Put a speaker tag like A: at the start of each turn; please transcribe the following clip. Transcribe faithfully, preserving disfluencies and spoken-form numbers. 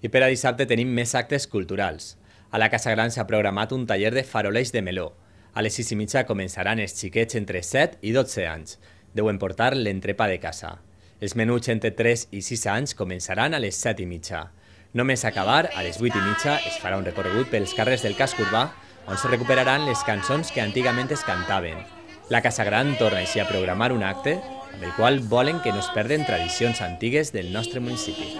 A: I per a dissabte tenim més actes culturals. A la Casa Gran s'ha programat un taller de faroleix de meló. A les sis i mitja començaran els xiquets entre set i dotze anys. Deuen portar l'entrepa de casa. Els menuts entre tres i sis anys començaran a les set i mitja. Només acabar, a les vuit i mitja es farà un recorregut pels carrers del casc urbà on se recuperaran les cançons que antigament es cantaven. La Casa Gran torna així a programar un acte amb el qual volen que no es perden tradicions antigues del nostre municipi.